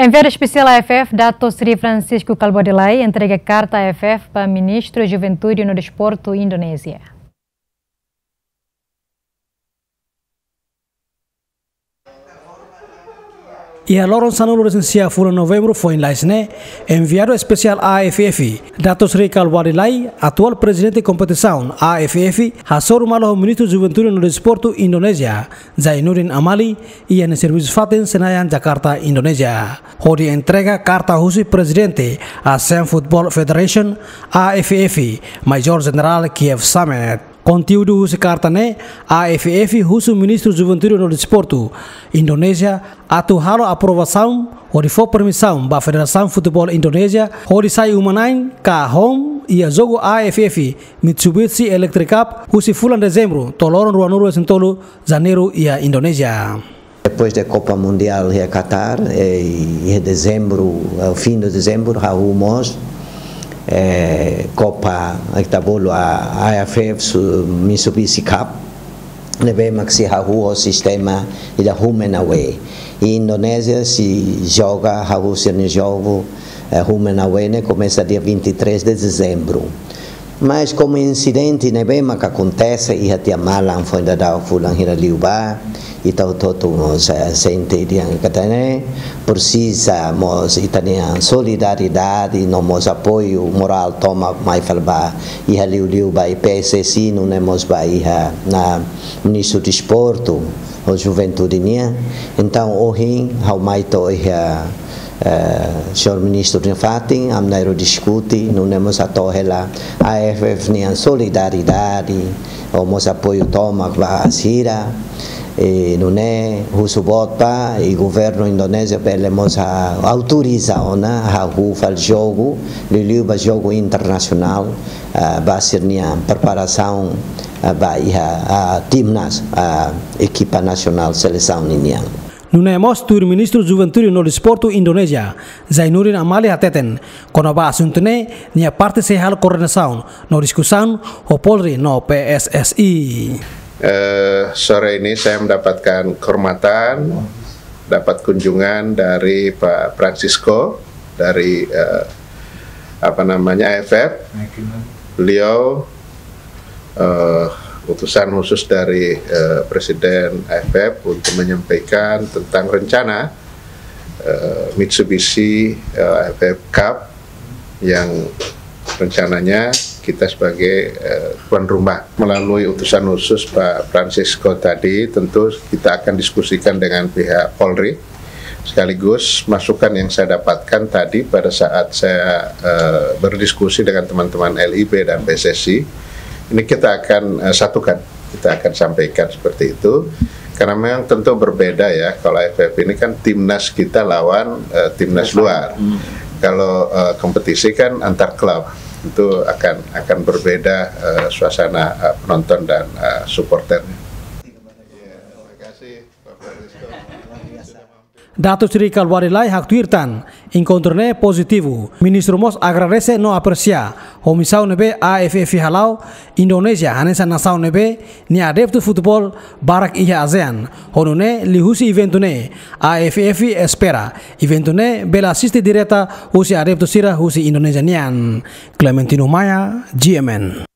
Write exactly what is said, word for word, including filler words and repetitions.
Enviadu Espesiál A F F, Dato Sri Francisco Kalbuadi Lay, entrega karta A F F ba Ministru Juventude no Desportu Indonézia. Iha loron sanulu-resin-sia fulan Novembru foin lalais ne'e, Enviadu Espesiál A F F, Dato Sri Kalbuadi Lay, atuál Prezidente Kompetisaun A F F, hasoru malu ho Ministru Juventude no Desportu Indonézia, Zainuddin Amali, iha nia servisu fatin Senayan, Jakarta, Indonézia, hodi entrega karta husi Prezidente ASEAN Football Federation, A F F, Majór Jenerál Kiev Samet. Konteúdu husi karta ne'e, A F F husu Ministru Juventude no Desportu Indonézia atu halo aprovasaun hodi fó permisaun ba Federasaun Futeból Indonézia hodi sai uma-na'in ka home iha jogu A F F Mitsubishi Electric Cup husi fulan Dezembru to'o loron ruanulu-resin-tolu Janeiru iha Indonézia. Depois de Copa Mundial iha Qatar, eh, iha Dezembru, eh, fim de Dezembru, hahú mós, eh, Copa, eh, ita bolu A F F su-, Mitsubishi Cup, ne'ebé mak sei hahú ho sistema ida home and away. I Indonézia sei joga hahú sira-nia jogu, eh, home and away ne'e komesa dia vinte e três de Dezembru. Mas komu insidente ne'ebé maka akontese iha tiha malan foin daudaun fulan hira liubá, ita hotu-hotu mós, eh, sente dehan katak ne'e presiza mós ita-nia solidariedade no mós apoiu morál tomak mai fali ba iha liuliu ba P S S I nune'e mós ba iha Ministru Desportu ho Juventude nian. Entaun ohin ha'u mai to'o iha, eh, señór Ministru nia fatin, ami na'in-rua diskute, nune'e mós hato'o hela A F F nian solidariedade, no mós apoiu tomak ba sira, i nune'e husu boot ba, i governu Indonézia bele mós autoriza ona hahú fali jogu, liuliu ba jogu internasionál, eh, ba sira-nia preparasaun, eh, ba iha, eh, timnas, eh, ekipa nasionál selesaun ninian. Nune'e mós tuir Ministru Juventude no Desportu Indonézia, Zainuddin Amali hateten, kona-ba asuntu ne'e, nia parte sei halo koordenasaun no diskusaun ho Polri no P S S I. Eh, sore ini saya mendapatkan kehormatan, dapat kunjungan dari Pak Francisco, dari, eh, apa namanya, A F F. Beliau, eh, utusan khusus dari, eh, Presiden A F F untuk menyampaikan tentang rencana, eh, Mitsubishi, eh, A F F Cup yang rencananya kita sebagai, eh, tuan rumah. Melalui utusan khusus Pak Francisco tadi, tentu kita akan diskusikan dengan pihak Polri, sekaligus masukan yang saya dapatkan tadi pada saat saya, eh, berdiskusi dengan teman-teman L I B dan P S S I, ini kita akan, eh, satukan, kita akan sampaikan seperti itu. Karena memang tentu berbeda ya, kalau A F F ini kan timnas kita lawan, eh, timnas luar. Kalau, eh, kompetisi kan antar klub, itu akan, akan berbeda, eh, suasana, eh, penonton dan, eh, supporternya. Iya, terima kasih, Pak Francisco. Dato Sri Kalbuadi Lay haktuir tan, enkontru ne'e pozitivu. Ministru mós agradese no apresia ho misaun ne'ebé A F F hala'o, Indonézia hanesan nasaun ne'ebé nia adeptu futeból barak iha ASEAN. Ho nune'e liuhusi eventu ne'e, A F F espera eventu ne'e bele asiste direta husi adeptu sira husi Indonézia nian. Clementino Maia, G M N.